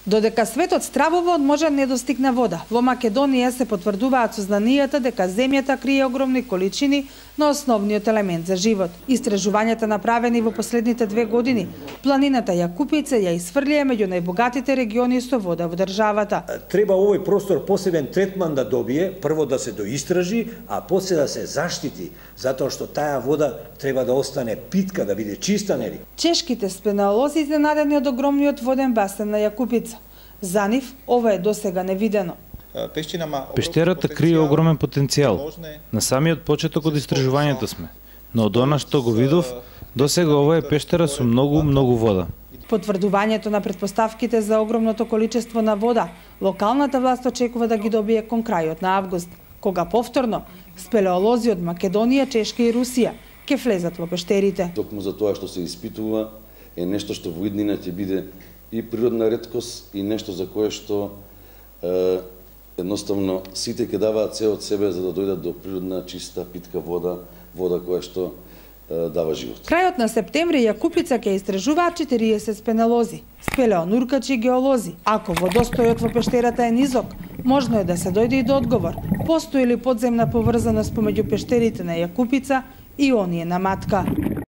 Додека светот стравува од можен недостиг на вода, во Македонија се потврдуваат сознанијата дека земјата крие огромни количини на основниот елемент за живот. Истражувањата направени во последните 2 години, планината Јакупица ја исфрлија меѓу најбогатите региони со вода во државата. Треба овој простор посебен третман да добие, прво да се доистражи, а после да се заштити, затоа што таа вода треба да остане питка, да биде чиста, нели? Чешките спелеолози изненадени од огромниот воден басен на Јакупица. За нив ова е досега невидено. Пештерата крие огромен потенцијал. На самиот почеток од истражувањето сме. Но од она што го видов, досега ова е пештера со многу вода. Потврдувањето на претпоставките за огромното количество на вода, локалната власт очекува да ги добие кон крајот на август, кога повторно спелеолози од Македонија, Чешка и Русија ќе влезат во пештерите. Токму за тоа што се испитува е нешто што во иднина ќе биде и природна реткост и нешто за кое што едноставно сите ќе даваат се од себе за да дојдат до природна, чиста, питка вода која што дава живот. Крајот на септември Јакупица ќе истражуваат 40 спелеолози, спелеонуркачи и геолози. Ако водостојот во пештерата е низок, можно е да се дојде и до одговор. Постои ли подземна поврзаност помеѓу пештерите на Јакупица и оние на Матка?